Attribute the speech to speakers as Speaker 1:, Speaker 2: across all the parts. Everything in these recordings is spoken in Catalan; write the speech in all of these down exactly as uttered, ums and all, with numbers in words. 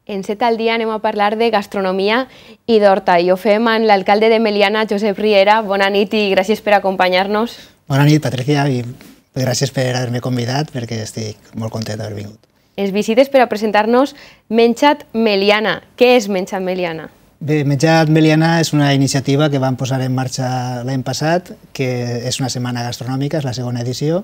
Speaker 1: En Set al Dia anem a parlar de gastronomia i d'horta i ho fem amb l'alcalde de Meliana, Josep Riera. Bona nit i gràcies per acompanyar-nos.
Speaker 2: Bona nit, Patricia, i gràcies per haver-me convidat perquè estic molt content d'haver vingut.
Speaker 1: Es visites per a presentar-nos Menjat Meliana. Què és Menjat Meliana?
Speaker 2: Bé, Menjat Meliana és una iniciativa que vam posar en marxa l'any passat, que és una setmana gastronòmica, és la segona edició,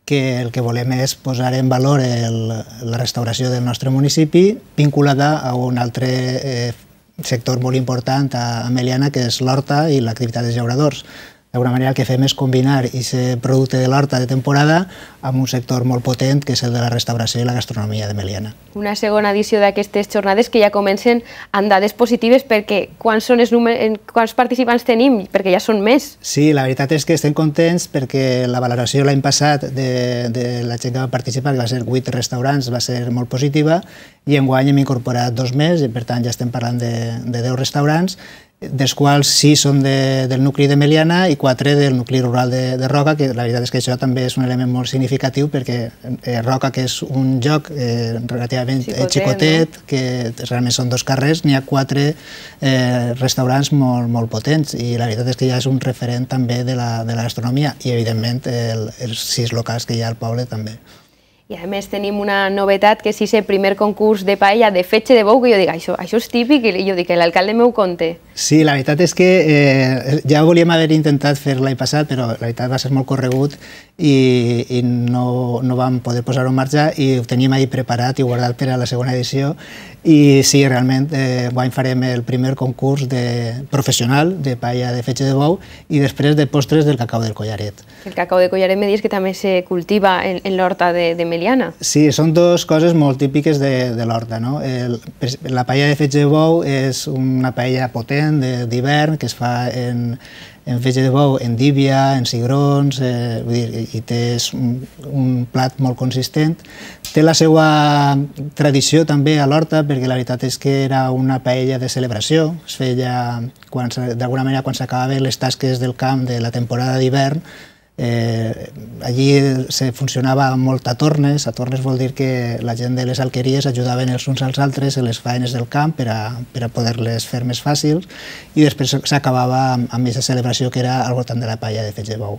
Speaker 2: que el que volem és posar en valor el, la restauració del nostre municipi vinculada a un altre eh, sector molt important a, a Meliana, que és l'horta i l'activitat dels llauradors. D'alguna manera el que fem és combinar aquest producte de l'horta de temporada amb un sector molt potent que és el de la restauració i la gastronomia de Meliana.
Speaker 1: Una segona edició d'aquestes jornades que ja comencen amb dades positives, perquè quants, són els números, quants participants tenim? Perquè ja són més.
Speaker 2: Sí, la veritat és que estem contents perquè la valoració l'any passat de, de la gent que va participar, que va ser vuit restaurants, va ser molt positiva, i enguany hem incorporat dos més, i per tant ja estem parlant de, de deu restaurants, dels quals sis són de, del nucli de Meliana i quatre del nucli rural de, de Roca, que la veritat és que això també és un element molt significatiu perquè eh, Roca, que és un lloc eh, relativament xicotet, xicotet no? Que realment són dos carrers, n'hi ha quatre eh, restaurants molt, molt potents i la veritat és que ja és un referent també de la, de la gastronomia i evidentment el, els sis locals que hi ha al poble també.
Speaker 1: I a més tenim una novetat, que és el primer concurs de paella de fetge de bou, que jo dic, això, això és típic, i jo dic que l'alcalde m'ho conté.
Speaker 2: Sí, la veritat és que eh, ja volíem haver intentat fer l'any passat, però la veritat va ser molt corregut i, i no, no vam poder posar-ho en marxa i ho teníem ahir preparat i guardat per a la segona edició. I sí, realment, eh, guany farem el primer concurs de, professional de paella de fetge de bou i després de postres del cacau del Collaret.
Speaker 1: El cacau de Collaret me dius que també se cultiva en, en l'horta de, de Meliana.
Speaker 2: Sí, són dues coses molt típiques de, de l'horta, no? El, la paella de fetge de bou és una paella potent d'hivern que es fa en, en fetge de bou, en díbia, en cigrons, eh, vull dir, i té un, un plat molt consistent. Té la seva tradició també a l'horta, perquè la veritat és que era una paella de celebració. Es feia, d'alguna manera, quan s'acabaven les tasques del camp de la temporada d'hivern. Eh, allí se funcionava molt a tornes. A tornes vol dir que la gent de les alqueries ajudaven els uns als altres en les faenes del camp per a, per a poder-les fer més fàcils i després s'acabava amb, amb aquesta celebració que era al voltant de la paella de fetge de bou.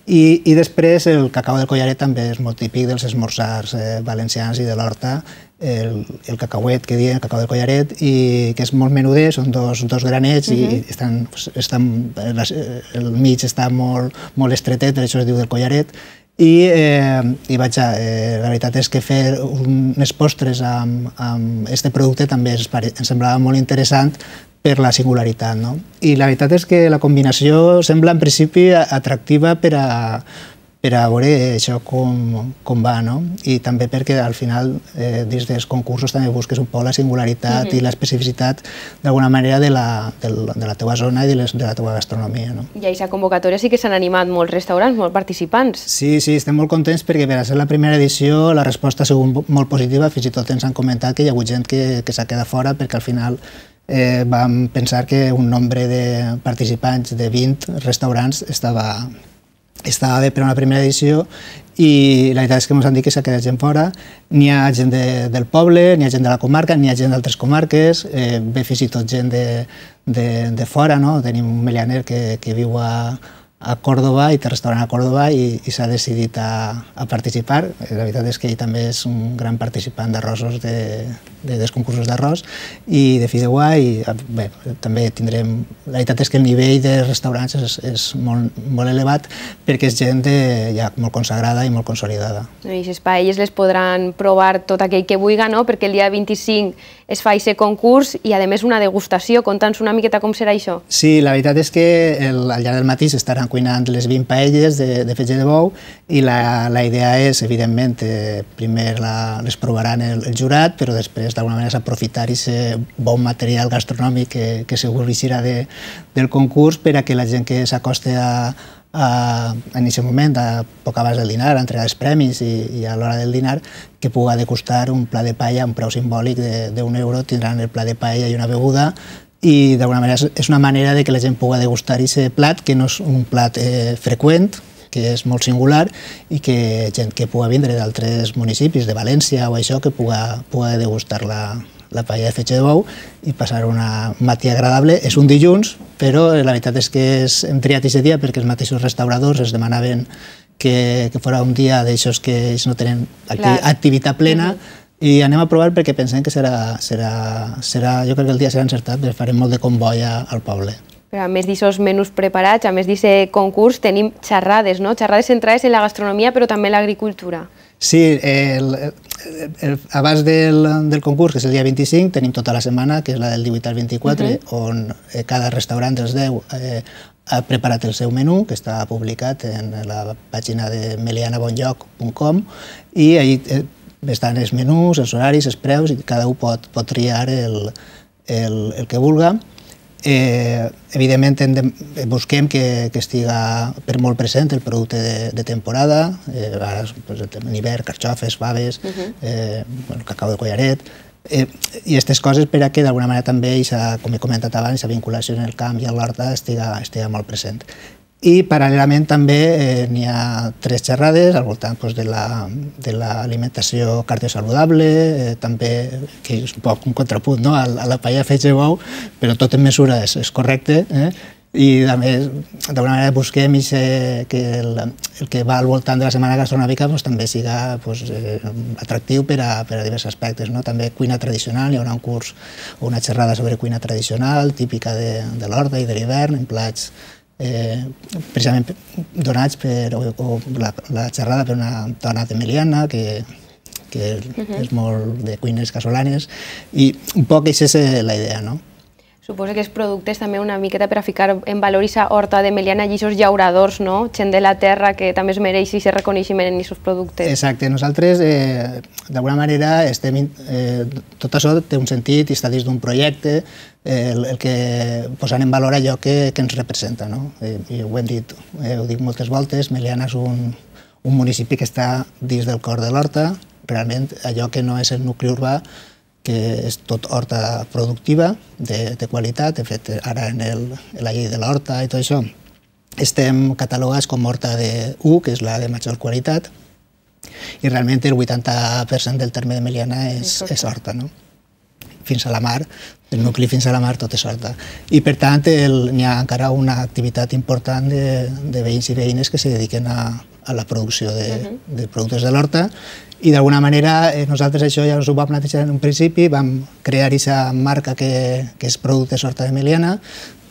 Speaker 2: I, i després el cacau del Collaret també és molt típic dels esmorzars eh, valencians i de l'horta, el, el cacauet que diuen, el cacau del Collaret, i que és molt menuder, són dos, dos granets uh-huh. i estan, estan, el mig està molt, molt estretet, per això es diu del Collaret. I, eh, i vaja, eh, la veritat és que fer unes postres amb, amb este producte també ens, ens semblava molt interessant per la singularitat, no? I la veritat és que la combinació sembla en principi atractiva per a, per a veure això com, com va, no? I també perquè al final eh, dins dels concursos també busques un poc la singularitat mm-hmm. i l'especificitat d'alguna manera de la, de, de la teva zona i de, les, de la teva gastronomia, no?
Speaker 1: I a aquesta convocatòria sí que s'han animat molts restaurants, molts participants.
Speaker 2: Sí, sí, estem molt contents perquè per a ser la primera edició la resposta ha sigut molt positiva, fins i tot ens han comentat que hi ha hagut gent que, que s'ha quedat fora perquè al final Eh, vam pensar que un nombre de participants de vint restaurants estava, estava bé per a una primera edició i la veritat és que ens han dit que s'ha quedat gent fora. N'hi ha gent de, del poble, n'hi ha gent de la comarca, n'hi ha gent d'altres comarques, eh, ve fins i tot gent de, de, de fora, no? Tenim un melianer que, que viu a, a Còrdoba i té restaurant a Còrdoba i, i s'ha decidit a, a participar. La veritat és que ell també és un gran participant d'arrossos, de, de, dels concursos d'arròs i de fideuà i bé, també tindrem... La veritat és que el nivell de restaurants és, és molt, molt elevat perquè és gent de, ja molt consagrada i molt consolidada.
Speaker 1: I les paelles les podran provar tot aquell que vulgui, no? Perquè el dia vint-i-cinc es fa aquest concurs i a més una degustació. Conta'ns una miqueta com serà això.
Speaker 2: Sí, la veritat és que el, al llarg del matí s'estaran cuinant les vint paelles de, de fetge de bou i la, la idea és, evidentment, eh, primer la, les provaran el, el jurat, però després d'alguna manera s'aprofitar aquest bon material gastronòmic que, que segur eixirà de, del concurs per a que la gent que s'acosta a, a, en aquest moment, a poc abans del dinar, a entregar els premis i, i a l'hora del dinar, que pugui degustar un pla de paella a un preu simbòlic d'un euro, tindran el pla de paella i una beguda i d'alguna manera és una manera de que la gent pugui degustar aquest plat, que no és un plat eh, freqüent, que és molt singular i que gent que pugui vindre d'altres municipis, de València o això, que pugui degustar la, la paella de fetge de bou i passar una matí agradable. És un dilluns, però la veritat és que és, hem triat aquest dia perquè els mateixos restauradors es demanaven que, que fos un dia d'aixòs que ells no tenen acti activitat plena, uh-huh. i anem a provar perquè pensem que serà, serà, serà, jo crec que el dia serà encertat, perquè farem molt de comboi al poble.
Speaker 1: Però a més d'aquests menús preparats, a més d'aquest concurs, tenim xerrades, no? Xerrades centrades en la gastronomia, però també en l'agricultura.
Speaker 2: Sí, el, el, el, abans del, del concurs, que és el dia vint-i-cinc, tenim tota la setmana, que és la del divuit al vint-i-quatre, uh-huh. on eh, cada restaurant dels deu eh, ha preparat el seu menú, que està publicat en la pàgina de meliana bon lloc punt com, i allí eh, estan els menús, els horaris, els preus, i cada un pot, pot triar el, el, el que vulga. Eh, evidentment, de, busquem que, que estiga per molt present el producte de, de temporada, eh, ara, pues, en hivern, carxofes, faves, uh-huh. eh, el cacau de collaret, eh, i aquestes coses per a que d'alguna manera també, com he comentat abans, la vinculació en el camp i a l'horta estiga, estiga molt present. I paral·lelament també eh, n'hi ha tres xerrades al voltant pues, de l'alimentació la, cardiosaludable, eh, també, que és un poc un contrapunt no? a, a la paella de fetge de bou, però tot en mesura és, és correcte, eh? I a més, d'alguna manera busquem ese, que el, el que va al voltant de la setmana gastronòmica pues, també siga pues, eh, atractiu per a, per a diversos aspectes. No? També cuina tradicional, hi haurà un curs o una xerrada sobre cuina tradicional, típica de, de l'horta i de l'hivern, en plats Eh, precisament donats per o, o la, la xerrada per una dona de Meliana que, que uh-huh. és molt de cuines casolanes i un poc aquesta és la idea, no?
Speaker 1: Suposo que els productes també una miqueta per a ficar en valor aquesta horta de Meliana i aquests llauradors, no? Gent de la terra que també es mereix aquest reconeixement en aquests productes.
Speaker 2: Exacte, nosaltres eh, d'alguna manera estem, eh, tot això té un sentit i està dins d'un projecte, eh, el, el que posant en valor allò que, que ens representa, no? Eh, i ho hem dit, eh, ho dic moltes voltes, Meliana és un, un municipi que està dins del cor de l'horta, realment allò que no és el nucli urbà, que és tot horta productiva, de, de qualitat. De fet, ara en, el, en la llei de l'horta i tot això, estem catalogats com horta de U, que és la de major qualitat, i realment el vuitanta per cent del terme de Meliana és, és horta, no? Fins a la mar, del nucli fins a la mar tot és horta. I per tant n'hi ha encara una activitat important de, de veïns i veïnes que se dediquen a, a la producció de, uh-huh. de productes de l'horta, i d'alguna manera eh, nosaltres això ja us ho vam plantejar en un principi, vam crear aquesta marca que, que és Productes Horta de Meliana,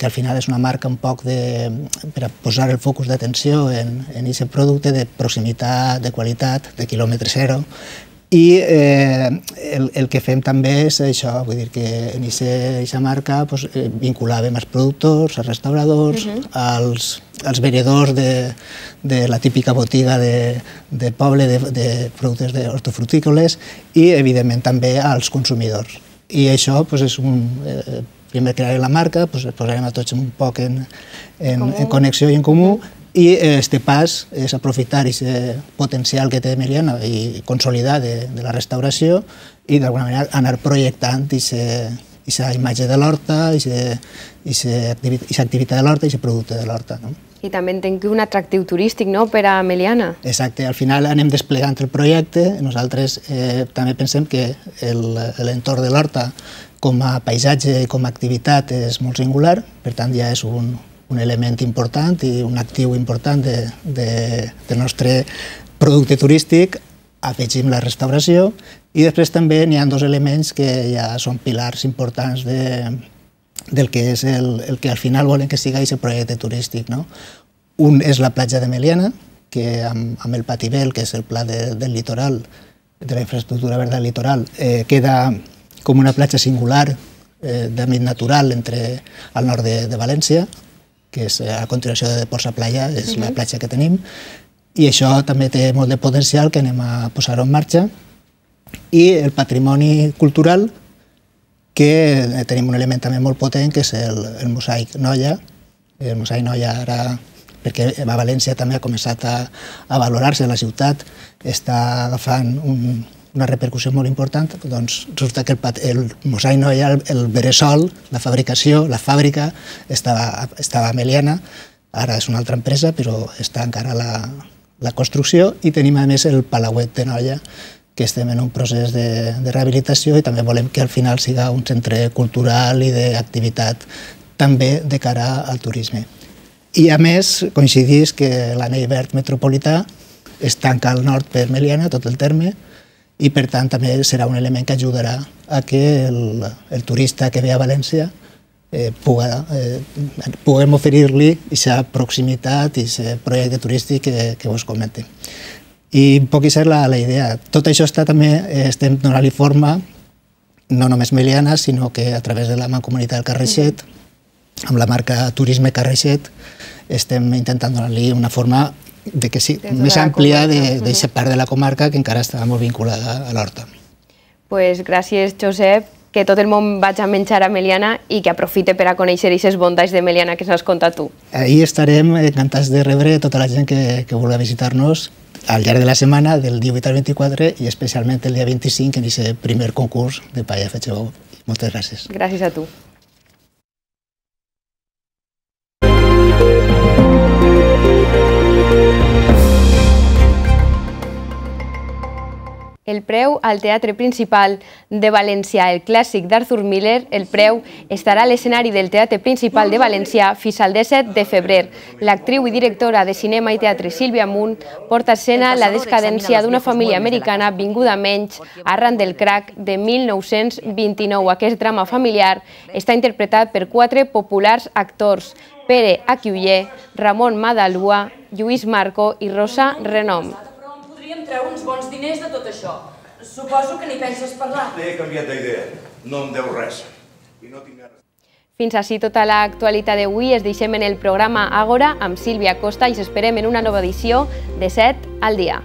Speaker 2: que al final és una marca un poc de, per a posar el focus d'atenció en aquest producte de proximitat, de qualitat, de quilòmetre zero. I eh, el, el que fem també és això, vull dir que en aquesta marca pues, eh, vinculàvem els productors, els restauradors, uh-huh. als, als venedors de, de la típica botiga de, de poble de, de productes hortofrutícoles i, evidentment, també als consumidors. I això pues, és un... Eh, primer crearem la marca, pues, posarem a tots un poc en, en, en connexió i en comú, i este pas és aprofitar aquest potencial que té Meliana i consolidar de, de la restauració i d'alguna manera anar projectant aquesta imatge de l'horta, aquesta activitat de l'horta i aquest producte de l'horta. No?
Speaker 1: I també entenc que un atractiu turístic, no?, per a Meliana.
Speaker 2: Exacte, al final anem desplegant el projecte, nosaltres eh, també pensem que l'entorn de l'horta com a paisatge i com a activitat és molt singular, per tant ja és un, un element important i un actiu important de, de, del nostre producte turístic, afegim la restauració i després també n'hi ha dos elements que ja són pilars importants de, del que és el, el que al final volen que siga aquest projecte turístic. No? Un és la platja de Meliana, que amb, amb el Patibel, que és el pla de, del litoral, de la infraestructura verda del litoral, eh, queda com una platja singular eh, d'àmbit natural entre al nord de, de València, que és a continuació de Ports a Playa, és uh-huh. la platja que tenim, i això també té molt de potencial que anem a posar-ho en marxa. I el patrimoni cultural, que tenim un element també molt potent, que és el, el mosaic Noia. El mosaic Noia ara, perquè a València també ha començat a, a valorar-se, la ciutat està agafant un, una repercussió molt important, doncs resulta que el, el mosaic Noia, el, el bressol, la fabricació, la fàbrica, estava, estava a Meliana, ara és una altra empresa, però està encara la, la construcció, i tenim a més el Palauet de Noia, que estem en un procés de, de rehabilitació i també volem que al final siga un centre cultural i d'activitat també de cara al turisme. I a més, coincidís que l'anell verd metropolità es tanca al nord per Meliana, tot el terme, i per tant també serà un element que ajudarà a que el, el turista que ve a València eh, puga, eh, puguem oferir-li aquesta proximitat i aquest projecte turístic que, que us comente. I un poc aquesta és la, la idea. Tot això està també, eh, estem donant-li forma, no només Meliana, sinó que a través de la Mancomunitat del Carraixet, amb la marca Turisme Carraixet, estem intentant donar-li una forma de que sí, més àmplia d'aquesta part de la comarca que encara està molt vinculada a l'horta.
Speaker 1: Pues gràcies, Josep, que tot el món vaig a menjar a Meliana i que aprofite per a conèixer aquestes bondats de Meliana que s'has contat tu.
Speaker 2: Ahí estarem encantats de rebre tota la gent que, que vulgui visitar-nos al llarg de la setmana, del divuit al vint-i-quatre, i especialment el dia vint-i-cinc, en aquest primer concurs de paella de fetge bou. Moltes gràcies.
Speaker 1: Gràcies a tu. El preu al Teatre Principal de València, el clàssic d'Arthur Miller, el preu estarà a l'escenari del Teatre Principal de València fins al disset de febrer. L'actriu i directora de cinema i teatre Sílvia Munt porta a escena la descadència d'una família americana vinguda menys arran del crac de mil nou-cents vint-i-nou. Aquest drama familiar està interpretat per quatre populars actors: Pere Aquiuller, Ramon Madalua, Lluís Marco i Rosa Renom.
Speaker 3: Podríem treure uns bons diners de tot això. Suposo que n'hi penses parlar.
Speaker 4: He canviat d'idea. No em deu res. I no tinc res.
Speaker 1: Fins així tota l'actualitat d'avui. Es deixem en el programa Àgora amb Sílvia Costa i us esperem en una nova edició de set al dia.